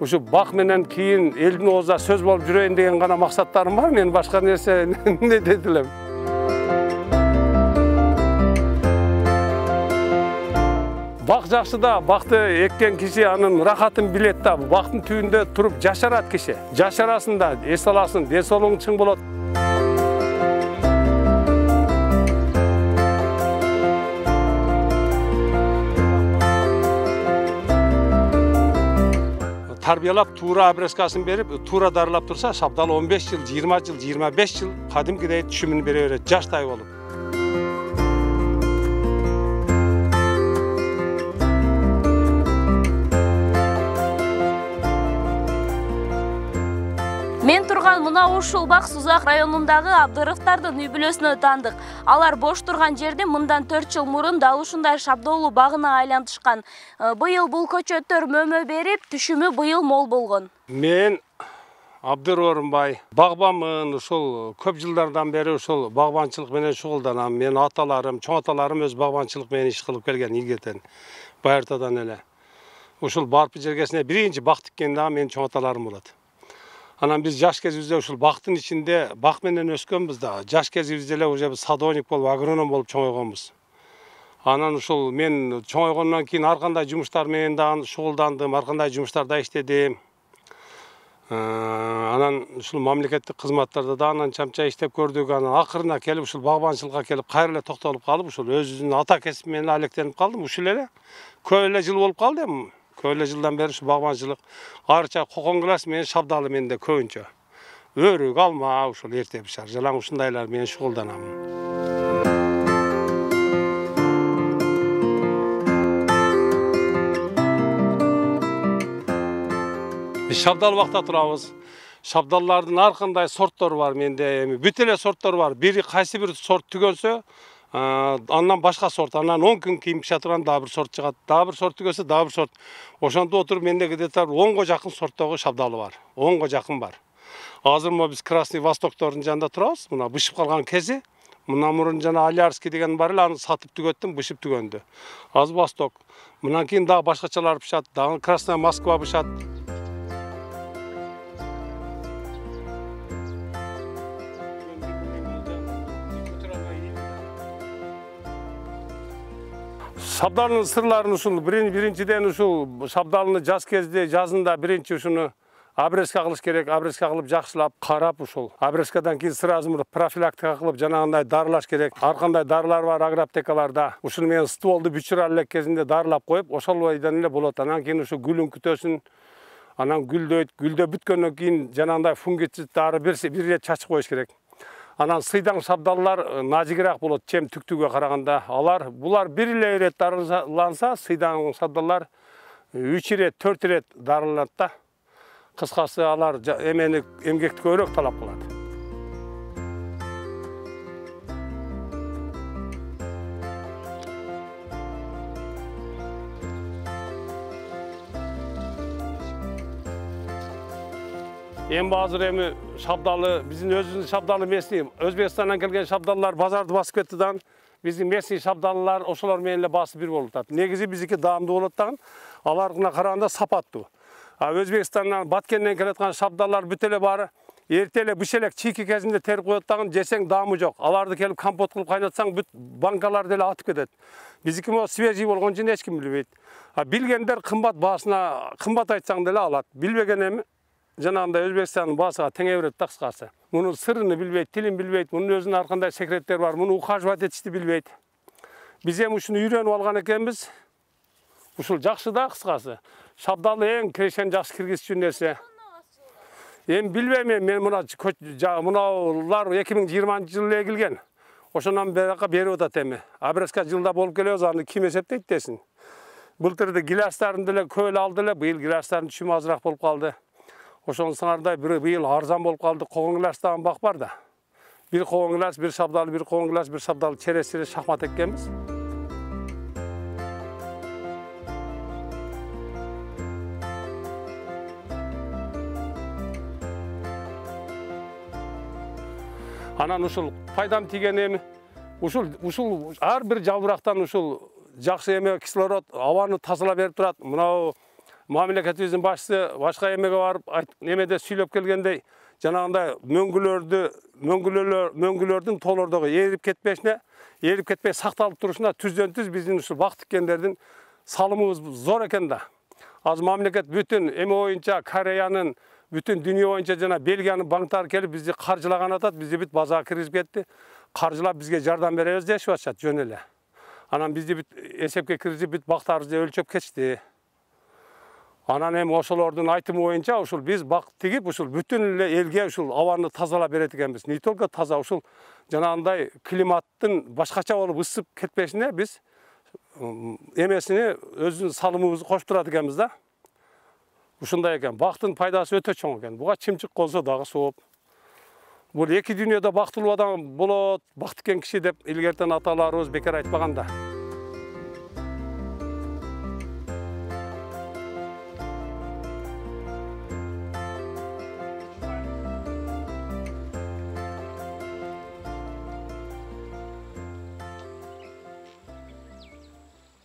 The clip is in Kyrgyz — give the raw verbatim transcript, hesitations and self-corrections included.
Ушу бак менен кийин элдин оозуна сөз болуп жүрөйүн деген гана максаттарым бар. Мен башка нерсе не дей элем. Бак жакшы да, бакты эккен киши анын рахатын билет да. Бактын түбүндө туруп жашарат киши. Жашарасын да, эс аласың, ден соолугуң чың болот. Тарбиялап туура обрезкасын берип, туура дарылап турса, шабдалы он беш жыл, жыйырма жыл, жыйырма беш жыл кадимкидей түшүмүн бере берет, жаштай болуп. Мен турган мына ушул бак Сузак районундагы Абдыровдордун үй бүлөсүнө таандык. Алар бош турган жерди мындан төрт жыл мурун дал ушундай шабдолуу багына айлантышкан. Быйыл бул көчөттөр мөмө берип, түшүмү быйыл мол болгон. Мен Абдыр Орунбай багбанмын, ушул көп жылдардан бери ушул багбанчылык менен шугулданам. Мен аталарым, чоң аталарым өз багбанчылык менен иш кылып келген ийгетен, байыртадан эле. Ушул Барпы жергесине биринчи бак тиккен дагы менин чоң аталарым болот. Анан биз жаш кезибизде ушул бактын ичинде бак менен өскөнбүз да. Жаш кезибизде эле уже садовник болуп, агроном болуп чоңойгонбуз. Анан ушул мен чоңойгондон кийин ар кандай жумуштар менен дагы шугулдандым, ар кандай жумуштарда иштедим. Анан ушул мамлекеттик кызматтарда да анан чамча иштеп көрдүк. Анан акырына келип ушул багбанчылыкка келип кайра эле токтолуп калып, ушул өзүнүн ата кесиби менен алектенип калдым. Ушул эле көп эле жыл болуп калды эми. Көп эле жылдан бери ушу багбанчылык, арча кокон класс менен шабдалы менде көбүнчө. Өрүк, алма, ушул эрте бишар, жалаң ушундайлар менен шугулданам. Биз шабдалы бакта турабыз. Шабдаллардын ар кандай сорттору бар менде, эми бүт эле сорттор бар. Бири кайсы бир сорт түгөнсө, андан башка сорт, анан он күн кийин пиша турган дагы бир сорт чыгат. Дагы бир сорт түгөсө, дагы бир сорт. Ошондо отуруп менде где-то онго жакын сорттогу шабдалы бар. онго жакын бар. Азыр мо биз Красный Востоктордун жанында турабыз. Мына бышып калган кези. Мына мурун жана Алярский деген бар эле, аны сатып түгөттүм, бышып түгөндү. Азыр Восток. Мындан кийин дагы башкачалар бышат, дагы Красная Москва бышат. Шабдалынын сырларын ушул биринчиден ушул шабдалыны жаз кезде, жазында биринчи ушуну обрезка кылыш керек. Обрезка кылып жакшылап карап ушул. Обрезкадан кийин сразу профилактика кылып жанагындай дарылаш керек. Ар кандай дарылар бар агроаптекаларда. Ушуну менен стволду бүчүрө элек кезинде дарылап коюп, ошол бойдон эле болот. Анан кийин ушу гүлүн күтөсүн. Анан гүлдөйт. Гүлдө бүткөндөн кийин жанагындай фунгицид дары бир ирет чачып коюш керек. Анан сыйдаң шабдаллар нажигирээк болот, чем түктүгө караганда. Алар булар бир эле ирет дарыланса, сыйдаң шабдаллар үч ирет, төрт ирет дарыланат да. Кыскасы алар эмени эмгекти көбүрөөк талап кылат. Эми азыр эми шабдалы, биздин өзүбүздүн шабдалы местный, Өзбекстандан келген шабдаллар базарды басып кетти да. Биздин местный шабдалылар ошолор менен эле басып бир болуп атат. Негизи биздики даамдуу болот дагы, аларына караганда сапаттуу. А Өзбекстандан, Баткенден келаткан шабдаллар бүт эле баары эрте эле быш элек чийки кезинде терип коет дагы, жесең даамы жок. Аларды келип компот кылып кайнатсаң, бүт банкалар деле атып кетет. Биздики мо свежий болгон үчүн эч ким билбейт. А билгендер кымбат баасына, кымбат айтсаң деле алат. Билбеген эми жанагындай Өзбекстандын баасыга теңе берет да кыскасы. Мунун сырын билбейт, тилин билбейт, мунун өзүнүн ар кандай секреттери бар, муну ухаживать этишти билбейт. Биз эми ушуну үйрөнүп алган экенбиз. Ушул жакшы да кыскасы. Шабдалы эң кирешен жакшы киргизчү нерсе. Эми билбейм, мен мына мынаулар эки миң жыйырманчы жылы эгилген. Ошондон бери берип атат эми. Обрезка жылда болуп келебиз, аны ким эсептейт десин. Былтырда гилястарын деле көп эле алды эле, быйыл гилястардын түшүмү азыраак болуп калды. Ошонусуңардай быйыл арзан болуп калды. Когон гиляс дагы бак бар да. Бир когон гиляс, бир шабдалы, бир когон гиляс, бир шабдалы чересире шахмат эккенбиз. Анан ушул пайдам тийген эми ушул ушул ар бир жалбырактан ушул жакшы эме кислород, абаны тазалап берип турат. Мынау мамлекетибиздин башчысы башка эмеге барып немеде сүйлөп келгендей, жанагындай мөңгүлөрдү мөңгүлөр мөңгүлөрдүн тоолордогу эрип кетпешине, эрип кетпей сакталып турушуна түздөн түз биздин ушул бак тиккендердин салымыбыз зор экен да. Азыр мамлекет бүтүн эме боюнча Кореянын, бүтүн дүйнө боюнча жана Бельгиянын банктары келип бизди каржылаган атат, бизди бүт базарга киргизип кетти. Каржылап бизге жардам беребиз дешип атышат жөн эле. Анан бизди бүт эсепке киргизип бүт бактарыбызды өлчөп кетишти. Анан эми ошолордун айтымы боюнча ушул биз бак тигип, ушул бүтүн эле элге ушул абаны тазалап берет экенбиз. Не только таза, ушул жанагындай климаттын башкача болуп ысып кетпешине биз эмесини өзүнүн салымыбызды кошуп турат экенбиз да. Ушундай экен. Бактын пайдасы өтө чоң экен. Буга чымчык колсо дагы сооп. Бул эки дүйнөдө бактылуу адам болот, бак тиккен киши деп илгертен аталарыбыз бекер айтпаган да.